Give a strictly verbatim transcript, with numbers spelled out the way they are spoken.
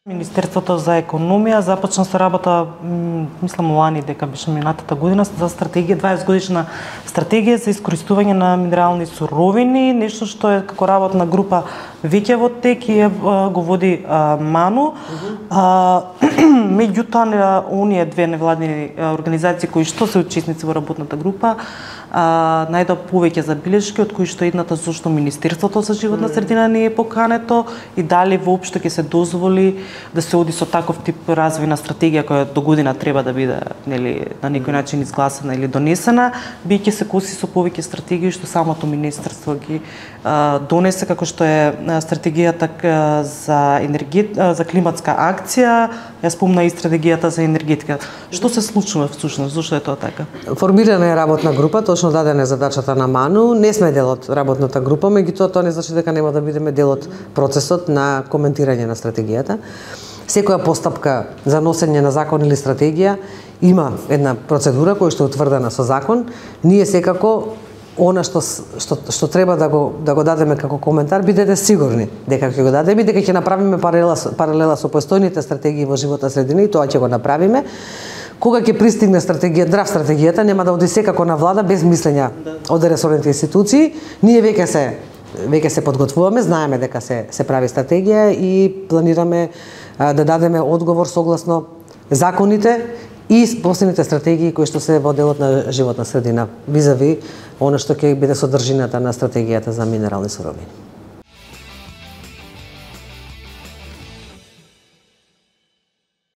Министерството за економија започна со работа, мислам лани дека беше минатата година, за стратегија, дваесет годишна стратегија за искористување на минерални суровини, нешто што е како работна група веќе во тек и го води а, Ману. А, меѓутоа, оние две невладини организации кои што се учесници во работната група, а, најдоа повеќе забелешки, од кои што едната зошто Министерството за животна средина не е покането и дали воопшто ќе се дозволи да се оди со таков тип развојна стратегија која до година треба да биде, нели, на некој начин изгласана или донесена, биќе се коси со повеќе стратегии што самото министерство ги а, донесе, како што е стратегијата за енергет, за климатска акција, ја спомна и стратегијата за енергетика. Што се случува всушност? Зошто е тоа така? Формирана е работна група, точно дадена е задачата на Ману. Не сме дел од работната група, меѓутоа тоа не значи дека нема да бидеме дел од процесот на коментирање на стратегијата. Секоја постапка за носење на закон или стратегија има една процедура која што е утврдена со закон. Ние секако она што што што треба да го да го дадеме како коментар, бидете сигурни дека ќе го дадеме, дека ќе направиме паралела паралела со постојните стратегии во животна средина и тоа ќе го направиме. Кога ќе пристигне стратегија, драв стратегијата, нема да оди секако на влада без мислења од ресорните институции. Ние веќе се веќе се подготвуваме, знаеме дека се се прави стратегија и планираме а, да дадеме одговор согласно законите и последните стратегии кои што се во делот на животна средина, визави она што ќе биде содржината на стратегијата за минерални суровини.